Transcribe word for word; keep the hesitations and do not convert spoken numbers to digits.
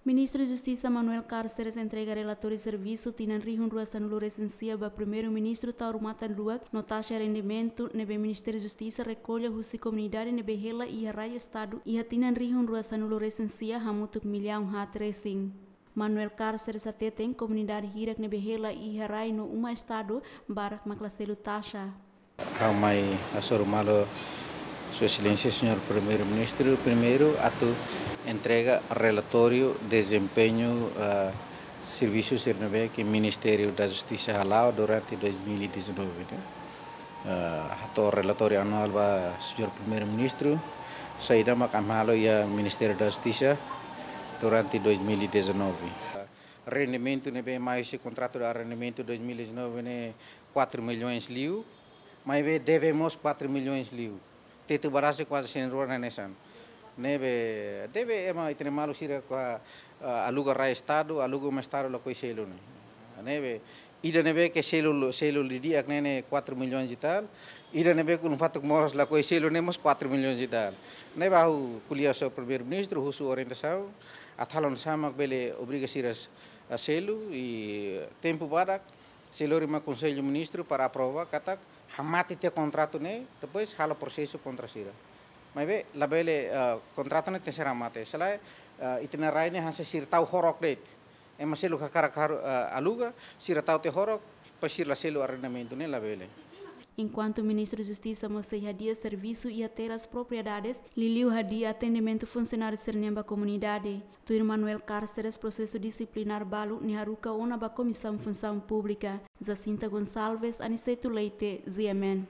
Ministru Justisa Manuel Cárceres entrega relatóriu servisu tinan rihun rua sanulu resin sia ba Primeiru-Ministru Taur Matan Ruak no taxa rendimentu ne'ebé Ministériu Justisa rekolla husi komunidade ne'ebé hela iha rai Estadu iha tinan rihun rua sanulu resin sia hamutuk millaun haat resin. Manuel Cárceres hateten komunidade hirak ne'ebé hela iha rai no uma Estadu barak mak la selu taxa. Ha'u mai hasoru malu Sua Exelénsia Señór Primeiru-Ministru, primeiru atu entrega relatóriu dezempeñu, ah, servisu sira ne'ebé ke Ministériu da Justisa hala'o durante dois mil e dezanove, ne'e. Ah, hato'o relatóriu anuál ba Señór Primeiru-Ministru, saida mak ami halo iha Ministériu da Justisa durante dois mil e dezanove. Rendimentu ne'ebé mai husi kontratu de arrendamentu dois mil e dezanove ne'e quatro milhões liu, maibé deve mós quatro milhões liu. Tetu ba rasik kuaze cem rua hanesan. Ne'ebé deve ema ita-nia maluk sira kuandu, ah, aluga rai Estadu, aluga uma Estadu lakohi selu ne'e. Ne'ebé ida ne'ebé ke selu, selu didi'ak ne'e, ne'e quatro milhões e tal. Ida ne'ebé ke ulun fatuk moras lakohi selu ne'e mós quatro milhões e tal. Ne'ebé ha'u ko'alia ho Primeiru-Ministru, husu orientasaun, atu halo oinsá mak bele obriga sira selu, i tempu badak sei lori mai Konsellu Ministru para aprova katak hamate tiha kontratu ne'e, depois halo prosesu kontra sira. Maibé labele, ah, kontratu ne'e tenke ser hamate. Se lae, ah, ita-nia rai ne'e hanesan sira tau horok de'it. Ema seluk hakarak haru, ah, aluga, sira tau tiha horok, depois sira la selu arrendamentu ne'e, labele. Enkuantu Ministru Justisa mós sei hadi'a servisu iha terras propriedades, liuliu hadi'a atendimentu funsionáriu sira-nian ba komunidade. Tuir Manuel Cárceres, prosesu disiplinár balu ne'e haruka ona ba Komisaun Funsaun Públika. Jacinta Gonçalves, Aniceto Leite, G M N.